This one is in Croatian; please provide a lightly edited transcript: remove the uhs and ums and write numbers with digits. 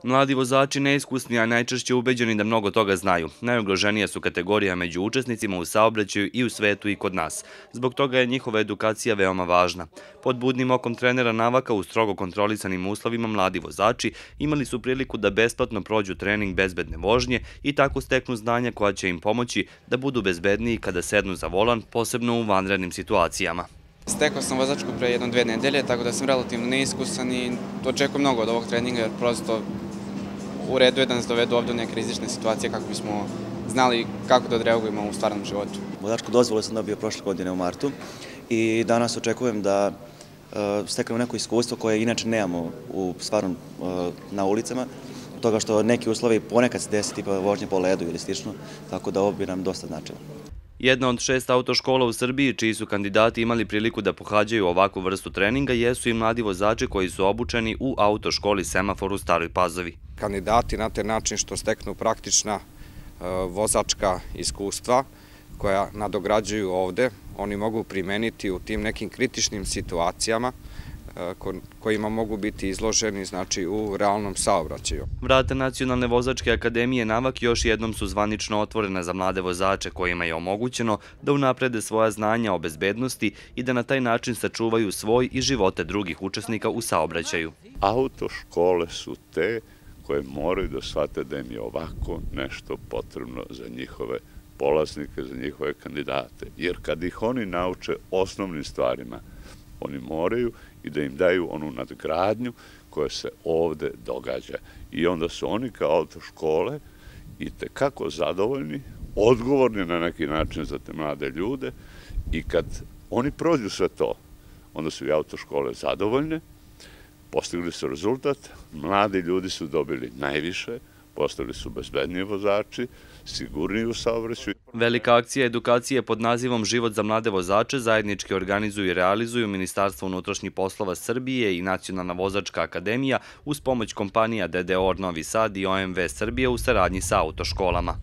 Mladi vozači neiskusni, a najčešće ubeđeni da mnogo toga znaju. Najugroženija su kategorija među učesnicima u saobraćaju i u svetu i kod nas. Zbog toga je njihova edukacija veoma važna. Pod budnim okom trenera navaka u strogo kontrolisanim uslovima mladi vozači imali su priliku da besplatno prođu trening bezbedne vožnje i tako steknu znanja koja će im pomoći da budu bezbedniji kada sednu za volan, posebno u vanrednim situacijama. Stekao sam vozačku pre 1-2 nedelje, tako da sam relativno neiskusan i očekujem mnogo od ovog treninga, jer prosto u redu je da nas dovedu ovdje u neke rizične situacije kako bismo znali kako da odreagujemo u stvarnom životu. Vozačku dozvolu sam dobio prošle godine u martu i danas očekujem da steknem neko iskustvo koje inače nemamo na ulicama, toga što neki uslovi ponekad se desi tipa vožnje po ledu ili slično, tako da ovo bi nam dosta značilo. Jedna od 6 autoškola u Srbiji, čiji su kandidati imali priliku da pohađaju ovakvu vrstu treninga, jesu i mladi vozači koji su obučeni u autoškoli Semafor u Staroj Pazovi. Kandidati na taj način što steknu praktična vozačka iskustva koja nadograđuju ovde, oni mogu primeniti u tim nekim kritičnim situacijama kojima mogu biti izloženi u realnom saobraćaju. Vrata Nacionalne vozačke akademije Navak još jednom su zvanično otvorena za mlade vozače kojima je omogućeno da unaprede svoja znanja o bezbednosti i da na taj način sačuvaju svoj i živote drugih učesnika u saobraćaju. Autoškole su te koje moraju da shvate da im je ovako nešto potrebno za njihove polaznike, za njihove kandidate. Jer kad ih oni nauče osnovnim stvarima, oni moraju i da im daju onu nadgradnju koja se ovde događa. I onda su oni kao autoškole i tekako zadovoljni, odgovorni na neki način za te mlade ljude i kad oni prođu sve to, onda su i autoškole zadovoljne, postigli su rezultat, mladi ljudi su dobili najviše, postali su bezbedniji vozači, sigurniji u saobraćaju. Velika akcija edukacije pod nazivom Život za mlade vozače zajednički organizuju i realizuju Ministarstvo unutrašnjih poslova Srbije i Nacionalna vozačka akademija uz pomoć kompanija DDOR Novi Sad i OMV Srbije u saradnji sa autoškolama.